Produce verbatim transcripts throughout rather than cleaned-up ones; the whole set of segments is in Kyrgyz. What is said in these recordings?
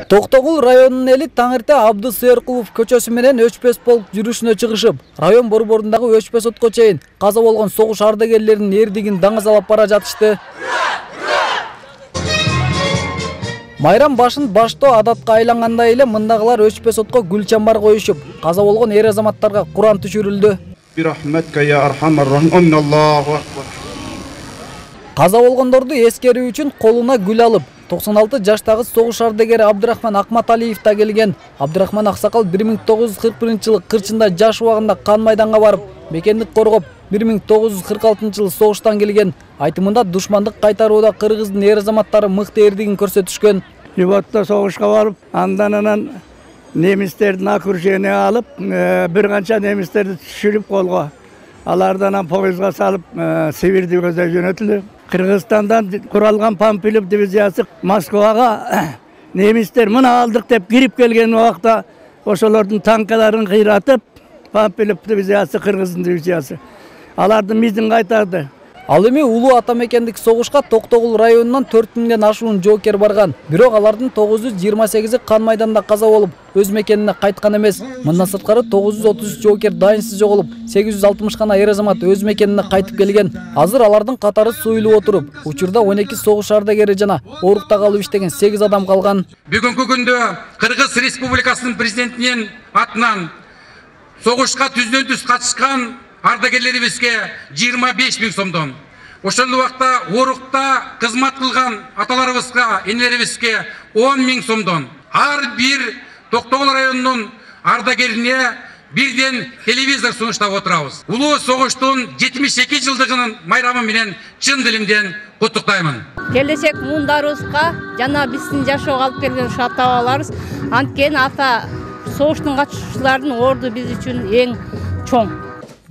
Токтогул районунун эли таңырта Абдыс Сыйыркулов көчөсү менен өчпөс полк жүрүшүнө чыгышып, район борборундагы өчпөс отко чейин каза болгон согуш ардагерлеринин эрдигин даңазалап бара жатышты. Майрам башын баштоо адатка айлангандай эле мындагылар өчпөс отко гүл чамбар коюшуп, каза болгон эр азаматтарга Куран түшүрүлдү. Каза болгондорду эскерүү үчүн колуна гүл алып, токсон алты жаштагы согуш ардагери Абдырахман Акматалиев да келген. Абдырахман аксакал бир миң тогуз жүз кырк биринчи жылы кырчында жаш убагында кан майданга барып, мекендик коргоп, бир миң тогуз жүз кырк алтынчы жылы согуштан келген. Айтымында душмандык кайтарууда кыргыздын эр азаматтары мыкты эрдигин көрсөтүшкөн. Ивотто согушка барып, андан анан немистердин окружение алып, бир канча немистерди түшүрүп колго. Алардан поездга салып, Сибирди көздөй жөнөтүлдү. Кыргызстандан куралган Памфилов дивизиясы Москвага немистер мына алдык деп кирип келген убакта ошолордун танкаларын кыйратып, Памфилов дивизиясы Кыргыздын дивизиясы алардын мизин кайтарды. Ал эми улуу ата мекендик согушка Токтогул районунан төрт миңден ашуун жоокер барган. Бирок алардын тогуз жүз жыйырма сегизи кан майданда каза болуп, өз мекенине кайткан эмес. Мындан сырткары тогуз жүз отуз үч жоокер дайынсыз жоголуп, сегиз жүз алтымыш гана эр азамат өз мекенине кайтып келген. Азыр алардын катары суюлуп отуруп, учурда он эки согуш ардагери жана оорукта калып иштеген сегиз адам калган. Бүгүнкү күндө Кыргыз Республикасынын президентинин атынан согушка түздөн түз катышкан ардагерлерибизге жыйырма беш миң сомдон, ошол убакта оорукта кызмат кылган аталарыбызга, энелерибизге он миң сомдон, ар бир Токтогул районунун ардагерине бирден телевизор сунуштап отурабыз. Улуу согуштун жетимиш эки жылдыгынын майрамы менен чын дилимден куттуктаймын. Келечек муундарыбызга жана биздин жашоого алып келген ушу ата-бабаларыбыз, анткени ата согуштун катышуучулардын орду биз үчүн эң чоң.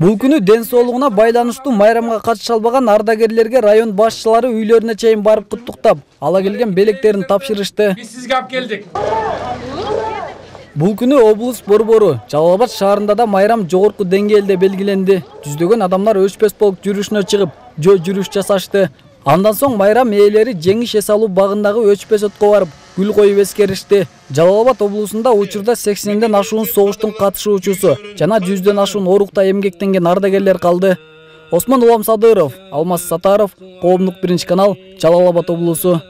Бул күнү ден соолугуна байланыштуу майрамга катыша албаган ардагерлерге район башчылары үйлөрүнө чейин барып куттуктап, ала келген белектерин тапшырышты. Биз сизге алып келдик. Бул күнү облус борбору Жалал Абад шаарында да майрам жогорку деңгээлде белгиленди. Жүздөгөн адамдар өчпөс полк жүрүшүнө чыгып, жөө жүрүш жасашты. Андан соң майрам ээлери жеңиш эс алуу багындагы өчпөс отко барып, гүл коюп эскеришти. Жалал Абад облусунда учурда сексенден ашуун согуштун катышуучусу жана жүздөн ашуун оорукта эмгектенген ардагерлер калды. Осмон Улам Садыров, Алмаз Сатаров, Коомдук биринчи канал, Жалал Абад облусу.